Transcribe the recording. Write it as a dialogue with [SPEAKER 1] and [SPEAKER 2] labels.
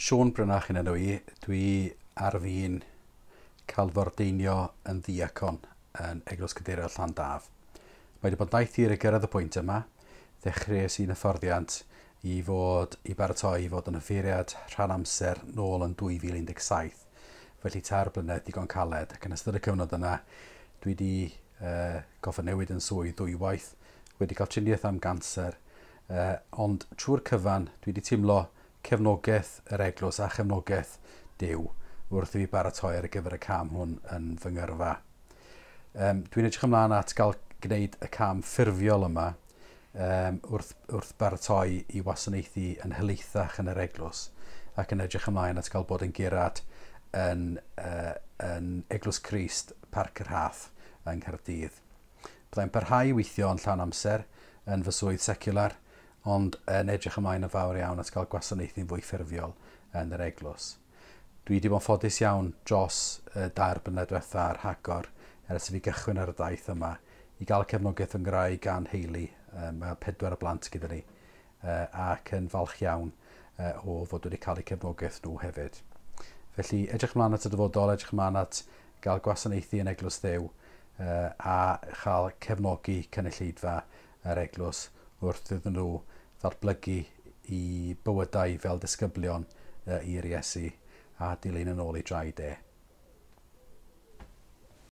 [SPEAKER 1] Siôn Brynach yn enw i. Dwi ar fin cael fy ordeinio yn ddiacon yn Eglwys Gadeiriol Llandaf. Mae wedi bod yn daith hir i gyrraedd y pwynt yma. Ddechreuais i'n hyfforddiant i fod i baratoi i fod yn offeiriad rhan amser nôl yn 2017. Felly 3 blynedd digon caled, ac yn ystod y cyfnod yna dwi wedi gorfod newid yn swydd ddwywaith, wedi cael triniaeth am ganser, ond trwy'r cyfan dwi wedi teimlo cefnogaeth yr eglwys a chefnogaeth Duw wrth i fi baratoi ar gyfer y cam hwn yn fy ngyrfa. Dwi'n edrych ymlaen at gael gwneud y cam ffurfiol yma wrth baratoi i wasanaethu yn helaethach yn yr eglwys, ac yn edrych ymlaen at gael bod yn gurad yn Eglwys Crist, Parc yr Rhath yng Nghaerdydd. Byddai'n parhau i weithio yn llawn amser yn fy swydd seciwlar, ond yn edrych ymlaen yn fawr iawn at gael gwasanaethu'n fwy ffurfiol yn yr eglwys. Dwi wedi bod yn ffodus iawn dros y 2 blynedd diwetha a'r rhagor ers i fi gychwyn ar y daith yma i gael cefnogaeth fy ngwraig a'n nheulu. Mae 4 o blant gyda ni, ac yn falch iawn o fod wedi cael eu cefnogaeth nhw hefyd. Felly edrych ymlaen at y dyfodol, edrych ymlaen at gael gwasanaethu yn Eglwys Dduw a chael cefnogi cynulleidfa yr eglwys wrth iddyn nhw ddatblygu i bywydau fel disgyblion i'r Iesu a dilyn yn ôl ei draed e.